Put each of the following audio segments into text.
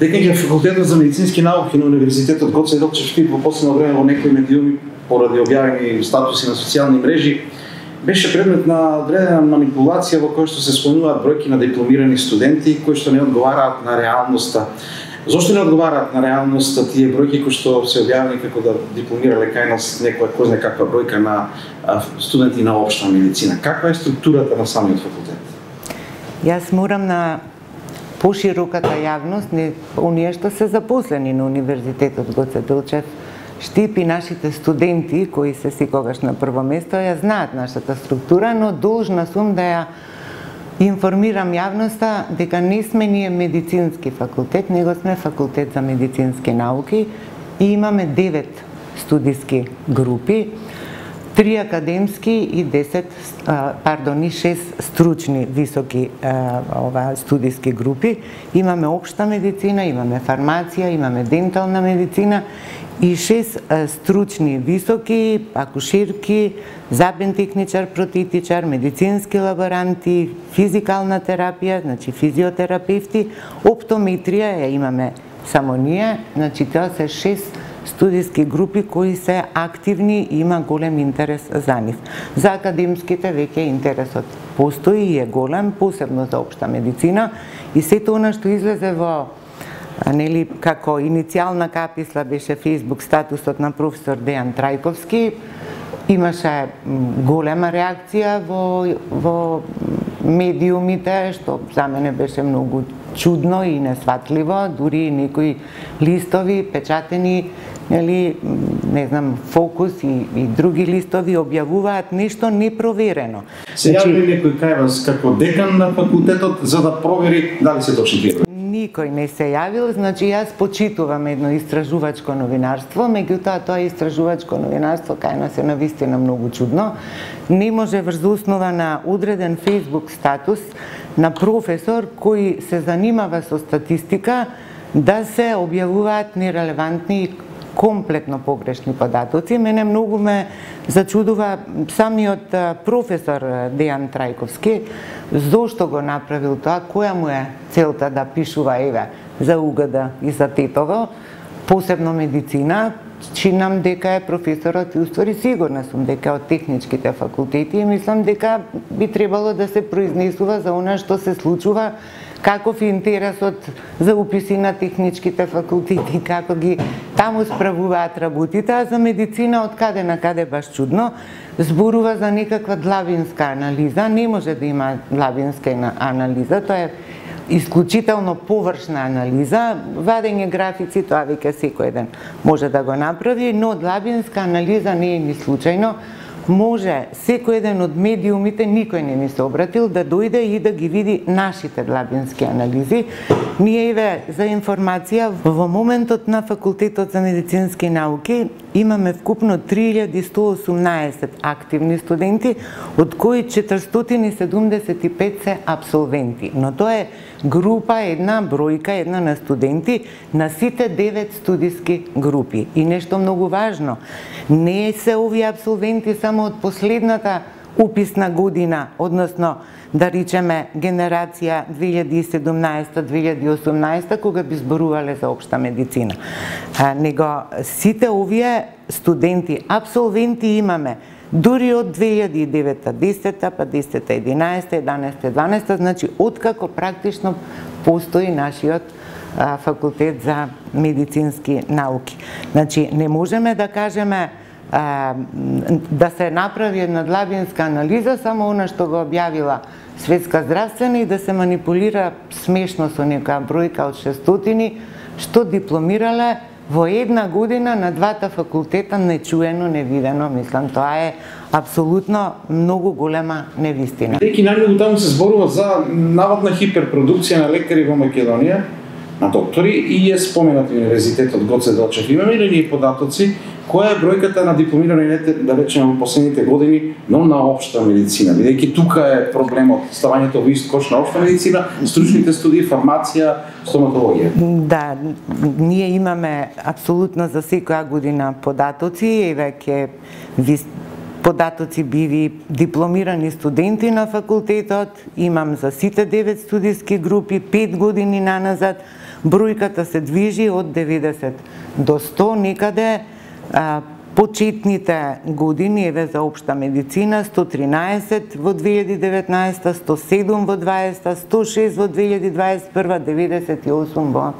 Декање факултетот за медицински науки на Универзитетот Гоце Делчев во последно време во некои медиуми поради објавени статуси на социјални мрежи беше предмет на одредена манипулација во која што се спомнуваат бројки на дипломирани студенти кои што не одговараат на реалноста. Зошто не одговараат на реалноста тие бројки кои што се објавени како да дипломирале кај нас некоја кој знае каква бројка на студенти на општа медицина? Каква е структурата на самиот факултет? Јас морам на пошироката јавност, оние што се запослени на Универзитетот Гоце Делчев, Штип и нашите студенти, кои се секогаш на прво место, ја знаат нашата структура, но должна сум да ја информирам јавноста дека не сме ние медицински факултет, него сме факултет за медицински науки и имаме 9 студиски групи, 3 академски и 6 стручни високи студиски групи. Имаме општа медицина, имаме фармација, имаме дентална медицина и 6 стручни високи, акушерки, забен техничар, протетичар, медицински лаборанти, физикална терапија, значи физиотерапевти, оптометрија ја имаме само ние, значи тоа се 6 студиски групи кои се активни и има голем интерес за нив. За академските веќе интересот постои и е голем, посебно за општа медицина и сето она што излезе во како иницијална каписла беше Facebook статусот на професор Дејан Трајковски, имаше голема реакција во медиумите, што за мене беше многу чудно и несватливо, дури некои листови печатени, не знам, Фокус и други листови објавуваат нешто непроверено. Се јави некој кај вас како декан на факултетот за да провери дали се точни тие? Никој не се јавил, значи јас почитувам едно истражувачко новинарство, меѓутоа тоа истражувачко новинарство кај нас е навистина многу чудно. Не може врз основа на одреден Facebook статус на професор кој се занимава со статистика да се објавуваат нерелевантни комплетно погрешни податоци. Мене многу ме зачудува самиот професор Дејан Трајковски, зошто го направил тоа, која му е целта да пишува за УГД и за Тетово, посебно медицина. Чинам дека е професорот и уствари сигурна сум дека од техничките факултети и мислам дека би требало да се произнесува за она што се случува, каков е интересот за уписи на техничките факултети, како ги таму справуваат работите, а за медицина од каде на каде баш чудно, зборува за некаква длабинска анализа, не може да има длабинска анализа, тоа е исклучително површна анализа, вадење графици, тоа веќе секој ден може да го направи, но длабинска анализа не е ни случајно. Може секој еден од медиумите, никој не ми се обратил, да дојде и да ги види нашите длабински анализи. Ние за информација, во моментот на Факултетот за медицински науки имаме вкупно 3118 активни студенти, од кои 475 се абсолвенти. Но тоа е група, една бројка, една на студенти на сите 9 студиски групи. И нешто многу важно, не се овие абсолвенти само од последната уписна година, односно да речеме генерација 2017-2018, кога би зборувале за општа медицина. Него сите овие студенти, абсолвенти имаме дури од 2009-та, 10-та, па 10-та, 11-та, 11-та, 12-та, значи откако практично постои нашиот факултет за медицински науки. Значи не можеме да кажеме да се направи една длабинска анализа, само она што го објавила Светска здравствена и да се манипулира смешно со нека бројка од 600, што дипломирале во една година на двата факултета нечуено, невидено. Мислам, тоа е апсолутно многу голема невистина. Деки најмногу таму се зборува за наводна хиперпродукција на лекари во Македонија, на доктори, и е споменат Универзитетот Гоце Делчев. Имаме ли ние податоци која е бројката на дипломирани, да речеме, во последните години, но на општа медицина? Бидејќи тука е проблемот, ставањето во ист кош на општа медицина, стручните студии, фармација, стоматологија. Да, ние имаме апсолутно за секоја година податоци, еве ќе ви податоци биви дипломирани студенти на факултетот, имам за сите 9 студиски групи 5 години наназад, бројката се движи од 90 до 100 некаде. Почетните години еве за општа медицина 113 во 2019, 107 во 20, 106 во 2021, 98 во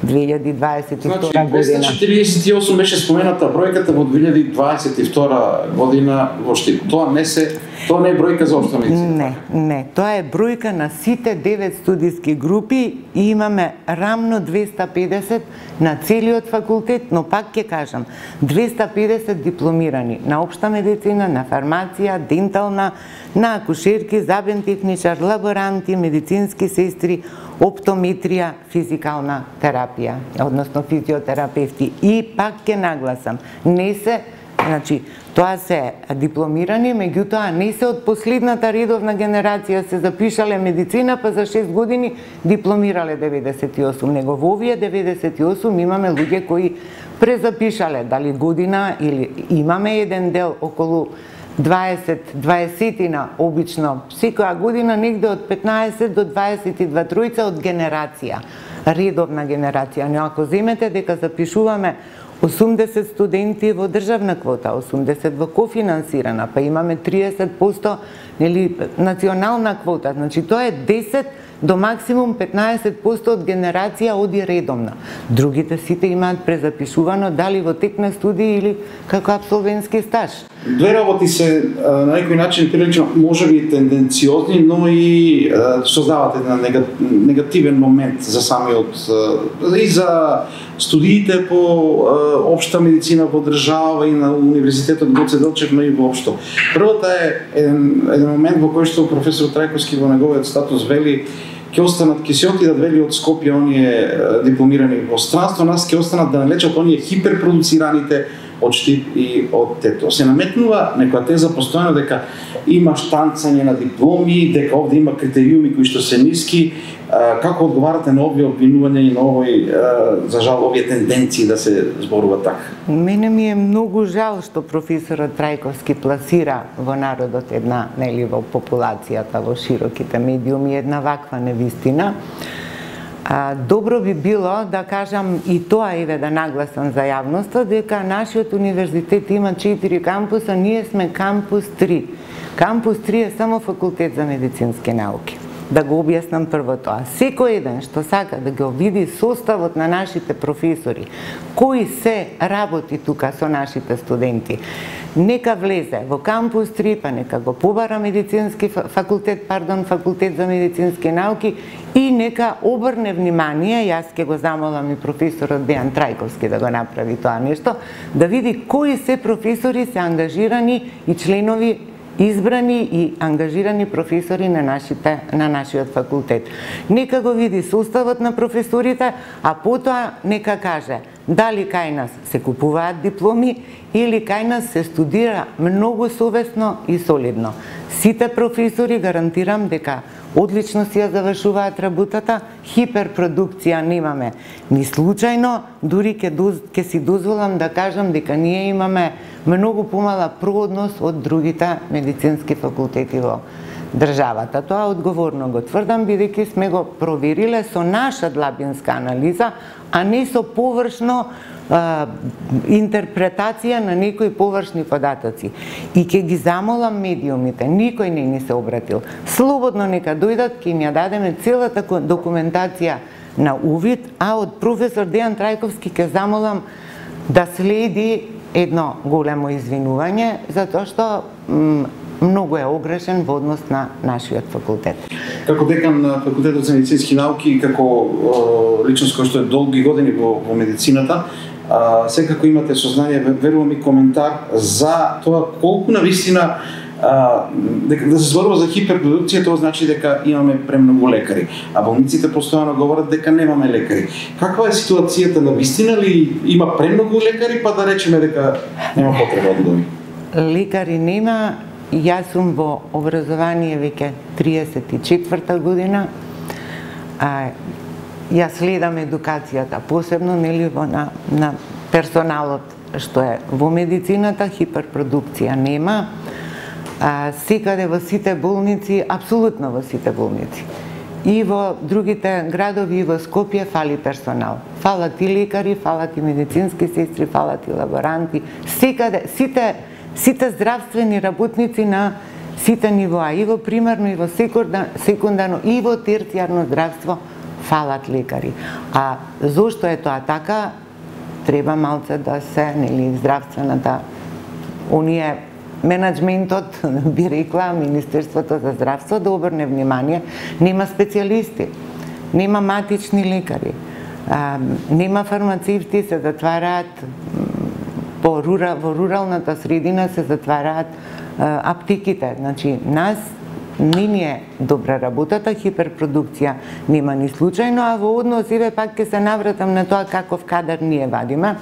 2022 година. 248 беше спомената бројката во 2022 година во Штип. Тоа не е бројка за општа медицина. Не, тоа е бројка на сите 9 студиски групи и имаме рамно 250 на целиот факултет, но пак ќе кажам, 250 дипломирани на општа медицина, на фармација, дентална, на акушерки, забен техничар, лаборанти, медицински сестри, оптометрија, физикална терапија, односно физиотерапевти. И пак ќе нагласам, не се, значи, тоа се дипломирани, меѓутоа не се од последната редовна генерација се запишале медицина, па за 6 години дипломирале 98, него во овие 98 имаме луѓе кои презапишале дали година или имаме еден дел околу 20-на обично секоја година, негде од 15 до 22 тројца од генерација, редовна генерација. Но ако земете дека запишуваме 80 студенти во државна квота, 80 во кофинансирана, па имаме 30% нели национална квота, значи тоа е 10 до максимум 15% од генерација оди редовна. Другите сите имаат презапишувано дали во тек на студии или како апсолвентски стаж. Две работи се на некој начин прилично можеби тенденциозни, но и создават еден негативен момент за самиот и за студиите по општа медицина во држава и на универзитетот Гоце Делчев, но и воопшто. Првата е еден момент во кој што професор Трајковски во неговиот статус вели ќе останат, ќе се отидат вели од Скопје оние дипломирани во странство, нас ќе останат да налечат оние хиперпродуцираните од Штип и од Тето. Се наметнува некоја теза постојано дека има штанцање на дипломи, дека овде има критериуми кои што се ниски. Како одговарате на овие обвинувања и на овој, за жал, овие тенденции да се зборува така? Мене ми е многу жал што професорот Трајковски пласира во народот една, нели во популацијата, во широките медиуми една ваква невистина. Добро би било да кажам и тоа еве да нагласам за јавноста дека нашиот универзитет има 4 кампуса, ние сме кампус 3. Кампус 3 е само факултет за медицински науки. Да го објаснам прво тоа. Секој еден што сака да го види составот на нашите професори, кои се работи тука со нашите студенти, нека влезе во кампус 3, па нека го побара медицински факултет за медицински науки и нека обрне внимание, јас ќе го замолам и професорот Дејан Трајковски да го направи тоа нешто, да види кои се професори се ангажирани и членови избрани и ангажирани професори на нашиот факултет. Нека го види составот на професорите, а потоа нека каже дали кај нас се купуваат дипломи или кај нас се студира многу совесно и солидно. Сите професори гарантирам дека одлично си ја завршуваат работата, хиперпродукција немаме ни случајно, дури ќе си дозволам да кажам дека ние имаме многу помала проодност од другите медицински факултети во државата. Тоа одговорно го тврдам, бидејќи сме го провериле со наша длабинска анализа, а не со површно интерпретација на некои површни податоци. И ќе ги замолам медиумите, никој не ни се обратил. Слободно нека дојдат, ќе им ја дадеме целата документација на увид, а од професор Дејан Трајковски ќе замолам да следи едно големо извинување, затоа што многу е огрешен во однос на нашиот факултет. Како декан на факултетот за медицински науки и како личност која што е долги години во медицината, секако имате сознание, верувам и коментар за тоа колку навистина дека да се зборува за хиперпродукција, тоа значи дека имаме премногу лекари, а болниците постојано говорат дека немаме лекари. Каква е ситуацијата, навистина ли има премногу лекари, па да речеме дека нема потреба од доми? Лекари нема. Јас сум во образование веќе 34-та година. Ја следам едукацијата, посебно нели на персоналот што е во медицината, хиперпродукција нема. секаде во сите болници, апсолутно во сите болници. И во другите градови, и во Скопје фали персонал. Фалат и лекари, фалат и медицински сестри, фалат и лаборанти. Секаде, сите здравствени работници на сите нивоа, и во примарно, и во секундарно, и во терцијарно здравство фалат лекари. А зошто е тоа така? Треба малце да се, нели, здравствената, менеджментот, би рекла, Министерството за здравство да обрне внимание, нема специјалисти, нема матични лекари, нема фармацевти, се затвараат во руралната средина, се затвараат аптеките. Значи, нас не ни е добра работата, хиперпродукција нема ни случајно, а во однос, еве пак ќе се навратам на тоа каков кадар ние вадиме.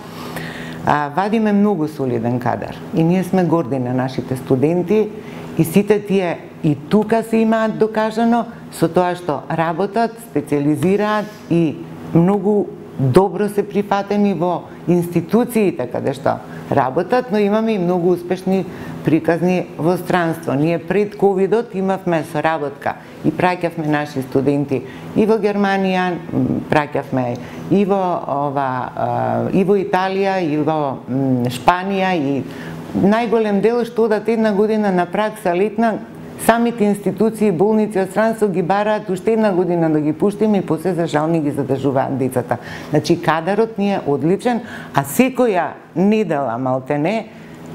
Вадиме многу солиден кадар и ние сме горди на нашите студенти и сите тие и тука се имаат докажано со тоа што работат, специализираат и многу добро се прифатени во институциите каде што работат, но имаме и многу успешни приказни во странство. Ние пред ковидот имавме соработка и праќавме наши студенти и во Германија, праќавме и во Италија, и во Шпанија, и најголем дел што одат една година на пракса летна, самите институции, болници од странство ги бараат уште една година да ги пуштиме и после за жал не ги задржуваат децата. Значи кадарот ни е одличен, а секоја недела малтене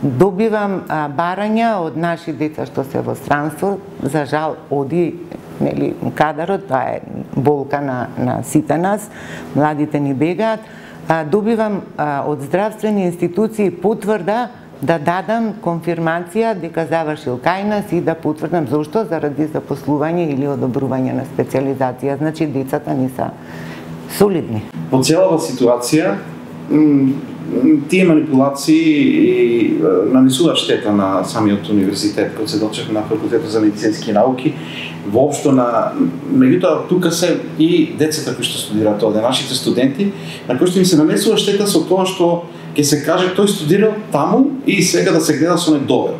добивам барања од наши деца што се во странство, за жал оди, нели, кадарот, тоа е болка на сите нас, младите ни бегаат, добивам од здравствени институции потврда да дадам конфирмација дека завршил кај нас и да потврдам зошто, заради запослување или одобрување на специализација. Значи децата ни се солидни. Во целава ситуација тие манипулации нанесуваат штета на самиот универзитет, кој се дочекна на факултетот за медицински науки, воопшто меѓутоа тука се и децата кои што студираат овде, нашите студенти, на кои што им се нанесува штета со тоа што ќе се каже тој студирал таму и сега да се гледа со недоверба.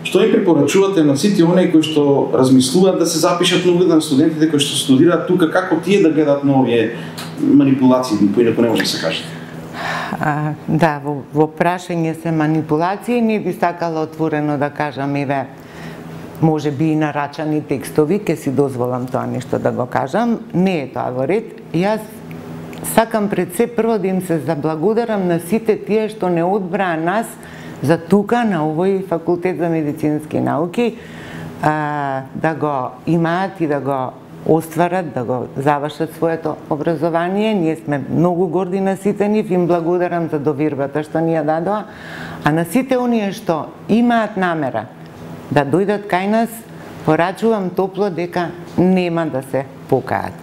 Што им препорачувате на сите оние кои што размислуваат да се запишат на углед на студентите кои што студираат тука, како тие да гледат на овие манипулации, поинаку не може да се каже? Да, во прашање се манипулации, не би сакала отворено да кажам, еве, може би и нарачани текстови, ке си дозволам тоа нешто да го кажам, не е тоа во ред. Јас сакам пред се прво да им се заблагодарам на сите тие што не одбраа нас за тука на овој факултет за медицински науки, да го имаат и да го остварат, да го завршат своето образование. Ние сме многу горди на сите нив, им благодарам за довербата што ни ја дадоа, а на сите оние што имаат намера да дојдат кај нас, порачувам топло дека нема да се покаат.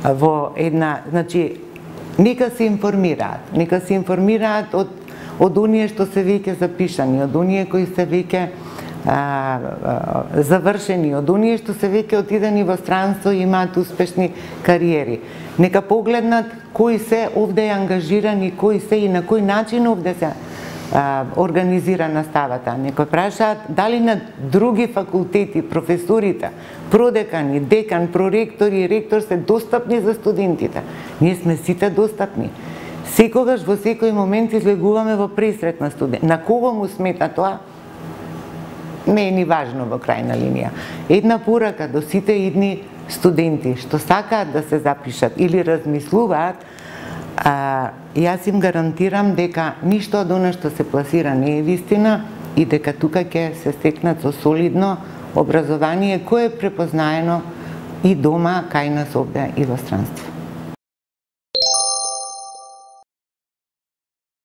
Во една, значи, нека се информираат од оние што се веќе запишани, од оние кои се веќе завршени, од оние што се веќе отидени во странство и имаат успешни кариери. Нека погледнат кои се овде ангажирани, кои се и на кој начин овде се организира наставата. Некој прашаат дали на други факултети професорите, продекани, декан, проректори и ректор се достапни за студентите. Ние сме сите достапни. Секогаш во секој момент излегуваме во пресрет на студент. На кого му смета тоа? Не е ни важно во крајна линија. Една порака до сите идни студенти што сакаат да се запишат или размислуваат, јас им гарантирам дека ништо од она што се пласира не е вистина и дека тука ќе се стекнат со солидно образование кое е препознаено и дома кај нас овде и во странство.